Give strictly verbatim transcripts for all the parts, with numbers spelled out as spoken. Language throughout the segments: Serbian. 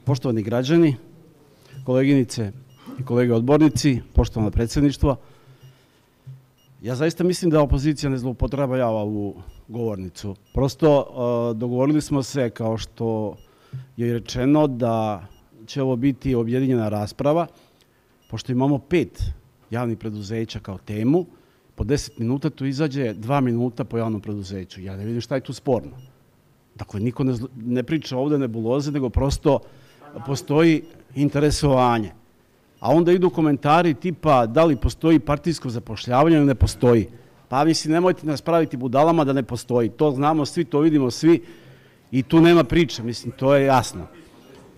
Poštovani građani, koleginice i kolege odbornici, poštovano predsjedništvo, ja zaista mislim da opozicija ne zloupotrebljava ovu govornicu. Prosto dogovorili smo se, kao što je rečeno, da će ovo biti objedinjena rasprava, pošto imamo pet javnih preduzeća kao temu, po deset minuta tu izađe dva minuta po javnom preduzeću. Ja ne vidim šta je tu sporno. Dakle, niko ne, ne priča ovde nebuloze, nego prosto postoji interesovanje. A onda idu komentari tipa da li postoji partijsko zapošljavanje ili ne postoji. Pa mislim, nemojte nas praviti budalama da ne postoji. To znamo svi, to vidimo svi i tu nema priče, mislim, to je jasno.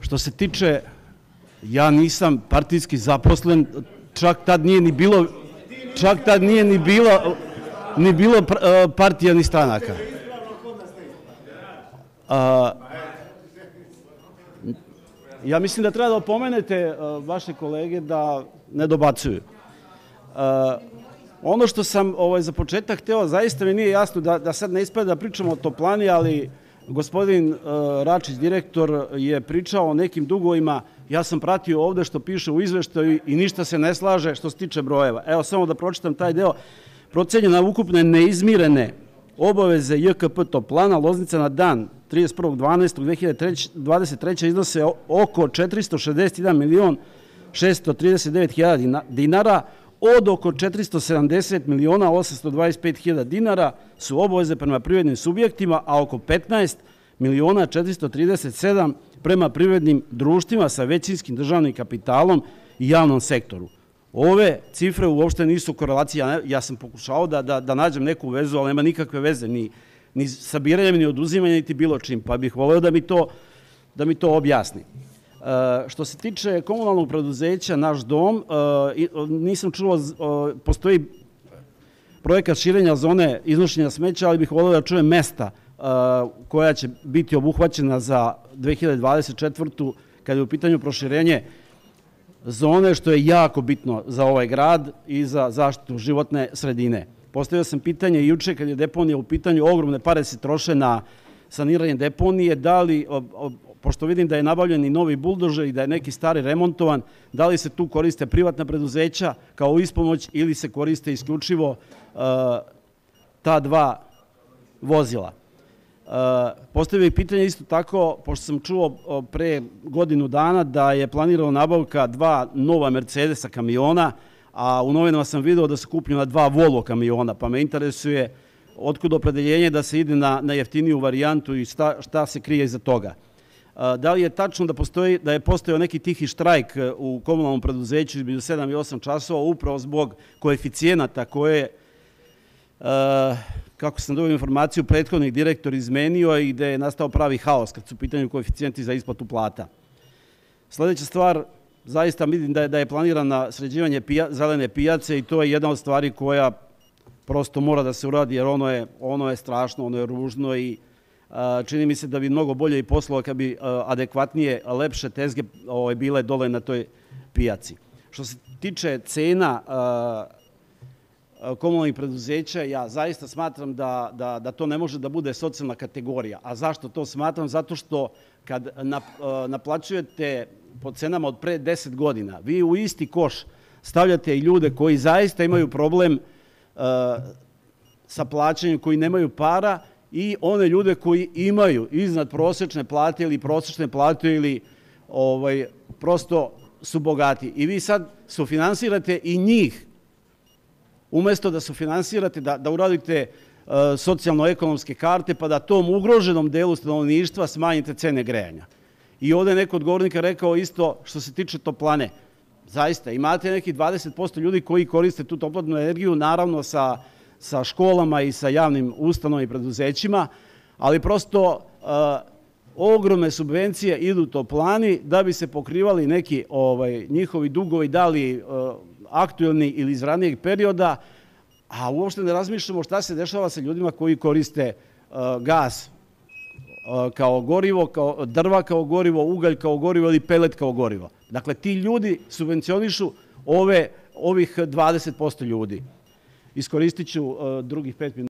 Što se tiče, ja nisam partijski zaposlen, čak tad nije ni bilo, čak tad nije ni bilo, ni bilo partija ni stranaka. A, ja mislim da treba da opomenete vaše kolege da ne dobacuju. A, ono što sam ovaj, za početak hteo, zaista mi nije jasno da, da sad ne ispada da pričamo o toplani, ali gospodin uh, Račić, direktor, je pričao o nekim dugovima. Ja sam pratio ovde što piše u izveštaju i ništa se ne slaže što se tiče brojeva. Evo, samo da pročitam taj deo. Procenjena ukupne neizmirene obaveze J K P Toplana Loznica na dan trideset prvog dvanaestog dve hiljade dvadeset treće. iznose oko četiristo šezdeset jedan milion šesto trideset devet hiljada dinara, od oko četiristo sedamdeset miliona osamsto dvadeset pet hiljada dinara su obaveze prema privrednim subjektima, a oko petnaest miliona četiristo trideset sedam prema privrednim društvima sa većinskim državnim kapitalom i javnom sektoru. Ove cifre uopšte nisu korelacija. Ja sam pokušao da, da, da nađem neku vezu, ali nema nikakve veze ni, ni sabiranjem, ni oduzimanjem, niti bilo čim, pa bih voleo da mi to, da mi to objasni. Uh, što se tiče komunalnog preduzeća Naš dom, uh, nisam čuo, uh, postoji projekat širenja zone iznošenja smeća, ali bih volio da čujem mesta uh, koja će biti obuhvaćena za dve hiljade dvadeset četvrtu. kada je u pitanju proširenje zone, što je jako bitno za ovaj grad i za zaštitu životne sredine. Postavio sam pitanje juče kad je deponija u pitanju, ogromne pare se troše na saniranje deponije, da li, pošto vidim da je nabavljen i novi buldožer i da je neki stari remontovan, da li se tu koriste privatna preduzeća kao ispomoć ili se koriste isključivo uh, ta dva vozila. Uh, postavio je pitanje isto tako, pošto sam čuo pre godinu dana da je planirana nabavka dva nova Mercedesa kamiona, a u novinama sam video da su kupljena dva Volvo kamiona, pa me interesuje otkud opredeljenje da se ide na, na jeftiniju varijantu i šta, šta se krije iza toga. Da li je tačno da, postoji, da je postojao neki tihi štrajk u komunalnom preduzeću između sedam i osam časova upravo zbog koeficijenata koje, kako sam dobio informaciju, prethodni direktor izmenio i gde je nastao pravi haos kad su u pitanju koeficijenti za isplatu plata. Sljedeća stvar, zaista vidim da je, da je planirana sređivanje pija, zelene pijace i to je jedna od stvari koja prosto mora da se uradi, jer ono je, ono je strašno, ono je ružno i a, čini mi se da bi mnogo bolje i poslova kad bi a, adekvatnije, lepše tezge ovaj, bile dole na toj pijaci. Što se tiče cena a, a, komunalnih preduzeća, ja zaista smatram da, da, da to ne može da bude socijalna kategorija. A zašto to smatram? Zato što kad nap, a, naplaćujete po cenama od pre deset godina, vi u isti koš stavljate i ljude koji zaista imaju problem sa plaćanjem, koji nemaju para, i one ljude koji imaju iznad prosečne plate ili prosečne plate ili ovaj, prosto su bogati. I vi sad sufinansirate i njih, umesto da sufinansirate, da, da uradite uh, socijalno-ekonomske karte, pa da tom ugroženom delu stanovništva smanjite cene grejanja. I ovde je neko od govornika rekao isto što se tiče toplane. Zaista, imate neki dvadeset posto ljudi koji koriste tu toplotnu energiju, naravno sa, sa školama i sa javnim ustanovama i preduzećima, ali prosto uh, ogromne subvencije idu toplani da bi se pokrivali neki ovaj, njihovi dugovi, da li uh, aktuelni ili iz ranijeg perioda, a uopšte ne razmišljamo šta se dešava sa ljudima koji koriste uh, gas uh, kao gorivo, kao drva kao gorivo, ugalj kao gorivo ili pelet kao gorivo. Dakle, ti ljudi subvencionišu ove, ovih dvadeset posto ljudi. Iskoristit ću uh, drugih pet minuta.